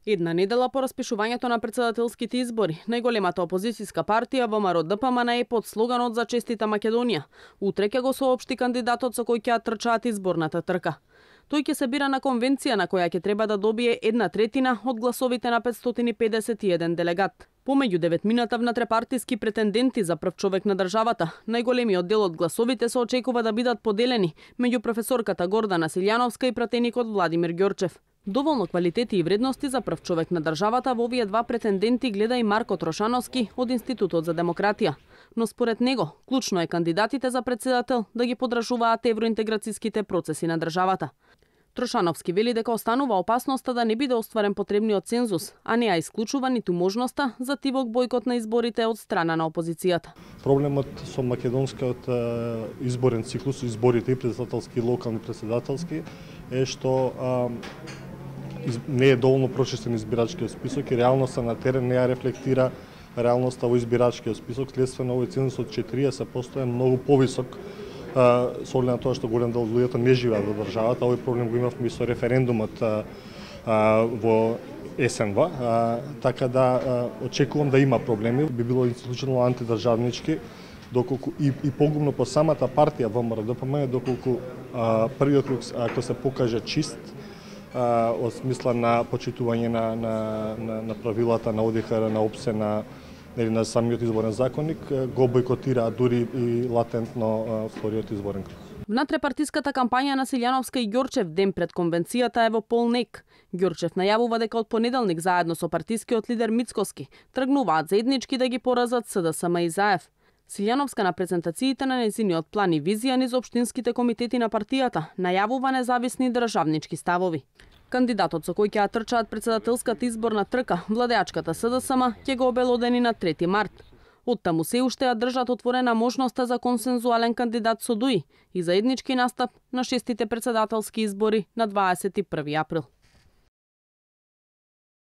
Една недела по распишувањето на претседателските избори, најголемата опозицијска партија ВМРО-ДПМН е под слоганот за честита Македонија. Утре ќе го соопшти кандидатот со кој ќе трчаат изборната трка. Тој ќе се бира на конвенција на која ќе треба да добие 1/3 од гласовите на 551 делегат. Помеѓу 9 внатрепартиски претенденти за прв човек на државата, најголемиот дел од гласовите се очекува да бидат поделени меѓу професорката Гордана Силјановска и пратеникот Владимир Ѓорчев. Доволно квалитети и вредности за прв човек на државата во овие два претенденти гледа и Марко Трошановски од Институтот за демократија. Но според него, клучно е кандидатите за претседател да ги подржуваат евроинтеграцијските процеси на државата. Трошановски вели дека останува опасноста да не биде остварен потребниот цензус, а не ја исклучува ниту можноста за тивок бојкот на изборите од страна на опозицијата. Проблемот со македонскиот изборен циклус, изборите и претседателски и локални претседателски, е што не е доволно прочистен избирачкиот список и реалноста на терен не ја рефлектира реалноста во избирачкиот список. Следствено овој цензус од 40% е многу повисок со оглед на тоа што голем дел од луѓето не живеат во државата. Овој проблем го имавме и со референдумот во есенва, така да очекувам да има проблеми. Би било исклучено антидржавнички, доколку и погубно по самата партија ВМРО-ДПМН, доколку првиот круг ако се покаже чист, од смисла на почитување на правилата на ОДХР, на ОПСЕ, на самиот изборен законник, го бойкотира дури и латентно вториот изборен круг. Внатрепартиската кампања на Силјановска и Ѓорчев ден пред конвенцијата е во полнек. Ѓорчев најавува дека од понеделник заедно со партискиот лидер Мицкоски тргнуваат заеднички да ги поразат СДСМ и ЗАЕФ. Силјановска на презентациите на нејзиниот план и визија низ општинските комитети на партијата најавува независни државнички ставови. Кандидатот со кој ќе трчаат претседателската изборна трка, владеачката СДСМ, ќе го обелодени на 3 март. Оттаму се уште ја држат отворена можноста за консензуален кандидат со ДУИ и заеднички настап на 6-тите претседателски избори на 21 април.